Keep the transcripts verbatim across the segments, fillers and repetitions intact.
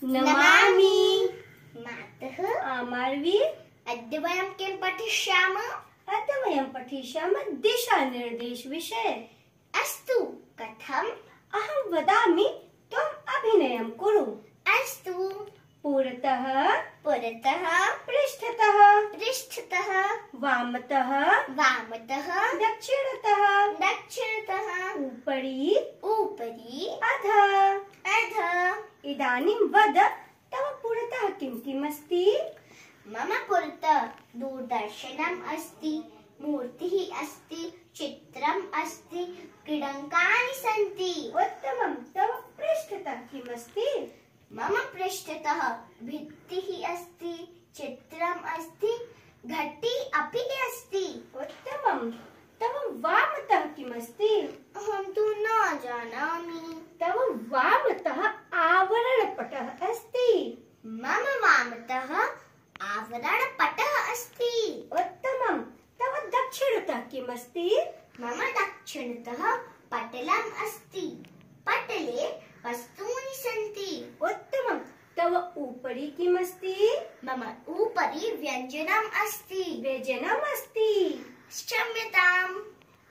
नमामि। मातः आमार्वी। अद्य वयं किं पठिष्यामः? अद्य वयं पठिष्यामः दिशानिर्देशविषये। अस्तु, कथम्? अहं वदामि, त्वम् अभिनयं कुरु। अस्तु। पुरतः पुरतः पृष्ठतः पृष्ठतः वामतः वामतः दक्षिणतः दक्षिणतः उपरि उपरि अधः अधः। इदानीं वद, तव पुरतः किं किम् अस्ति? मम पुरतः दूरदर्शनम् अस्ति, मूर्तिः अस्ति, चित्रम् अस्ति, क्रीडनकानि सन्ति। उत्तमं। तव पृष्ठतः किम् अस्ति? मम पृष्ठतः भित्तिः अस्ति, चित्रम् अस्ति, घटी अपि अस्ति। उत्तमं। तव वामतः किम् अस्ति? अहं तु न जानामि। तव वामतः आवरणपटः अस्ति। मम वामतः आवरणपटः अस्ति। उत्तमं। तव दक्षिणतः किम् अस्ति? मम दक्षिणतः पटलम् अस्ति, पटले वस्तूनि सन्ति। उत्तमं। तव उपरि किम् अस्ति? मम उपरि व्यञ्जनम् अस्ति। व्यञ्जनम् अस्ति। क्षम्यताम्।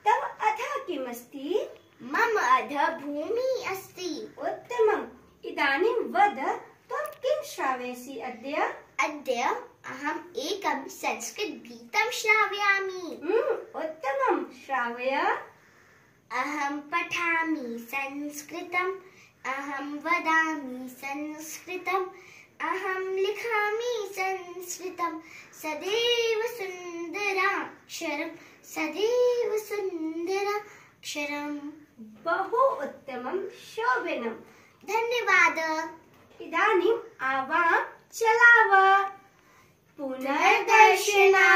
तव अधः किम् अस्ति? मम अधः भूमिः अस्ति। उत्तमम्। इदानीं वद, त्वं किं श्रावयसि अद्य? अद्य अहम् एकं संस्कृतगीतं श्रावयामि। हम्म, उत्तमं। श्रावय। अहं पठामि संस्कृतम्, अहं वदामि संस्कृतम्, अहं लिखामि संस्कृतं। सदैव सुन्दराक्षरं, सदैव सुन्दराक्षरम्। बहु उत्तमं, शोभनम्। धन्यवादः। इदानीम् आवां चलाव। पुनर्दर्शनाय।